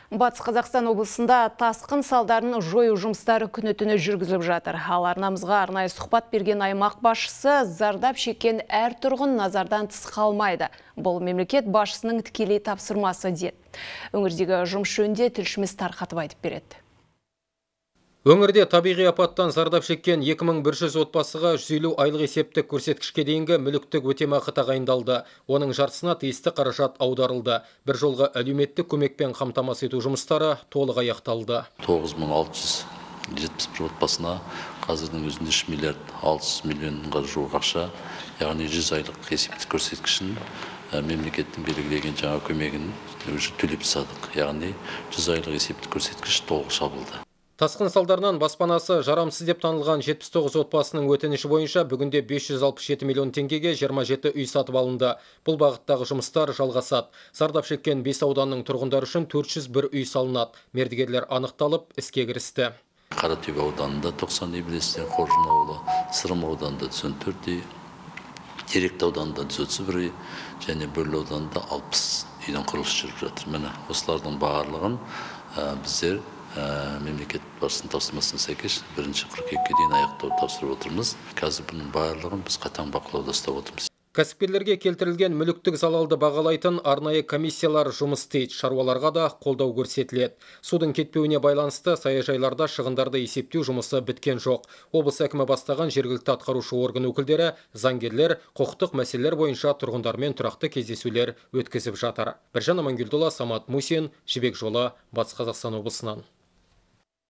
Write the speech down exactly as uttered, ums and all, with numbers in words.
Батыс Қазақстан облысында тасқын салдарын жою жұмыстары күні-түні жүргізіліп жатыр. Ал арнамызға арнайы сұхбат берген аймақ басшысы зардап шеккен әр тұрғын назардан тыс қалмайды. Бұл мемлекет басшысының тікелей тапсырмасы деді. Өңірдегі жұмыс жөнінде тілшіміз тарқатып айтып береді. Өңірде табиғи апаттан зардап шеккен екі мың бір жүз отбасыға жүз елу айлық есептік көрсеткішке дейінгі мүліктік өтемақы тағайындалды. Оның жартысына тиісті қаражат аударылды. Bir жолғы әлеуметтік көмекпен қамтамасыз ету жұмыстары толық аяқталды. тоғыз мың алты жүз жетпіс бір отбасына қазірдің өзінде үш миллиард алты жүз миллионға жуық ақша, яғни жүз айлық есептік көрсеткішін мемлекеттің белгілеген жаңа көмегін төлеп тастадық. Яғни жүз айлық есептік көрсеткіш толық жабылды. Тасқын салдарынан баспанасы жарамсыз деп танылған жетпіс тоғыз отбасының өтініші бойынша бүгінде бес жүз алпыс жеті миллион теңгеге жиырма жеті үй сатып алынды. Бұл бағыттағы жұмыстар жалғасады. Зардап шеккен бес ауданның тұрғындары үшін төрт жүз бір үй салынады. Мердігерлер анықталып, іске кірісті. Қаратөбе ауданында тоқсан үй бірлестен, Қоржын ауылы, Сырым ауданында жүз он төрт үй, Теректі ауданында жүз отыз бір үй, және Бөрлі ауданында алпыс үйдің құрылысы жүріп жатыр. Міне осылардың барлығын біздер мемлекет басшысының тапсырмасына сәйкес бірінші қыркүйекке дейін аяқтауды тапсырып отырмыз. Қазір бұның барлығын біз қатаң бақылауда ұстап отырмыз. Кәсіпкерлерге келтірілген мүліктік залалды бағалайтын арнайы комиссиялар жұмыс істейді. Шаруаларға да қолдау көрсетіледі. Судың кетпеуіне байланысты саяжайларда шығындарды есептеу жұмысы біткен жоқ. Облыс әкімі бастаған жергілікті атқарушы орган өкілдері, заңгерлер құқықтық мәселелер бойынша тұрғындармен тұрақты кездесулер өткізіп жатыр. Біржан Амангелдіұлы, Самат Мусин, Жібек жолы, Батыс Қазақстан облысынан.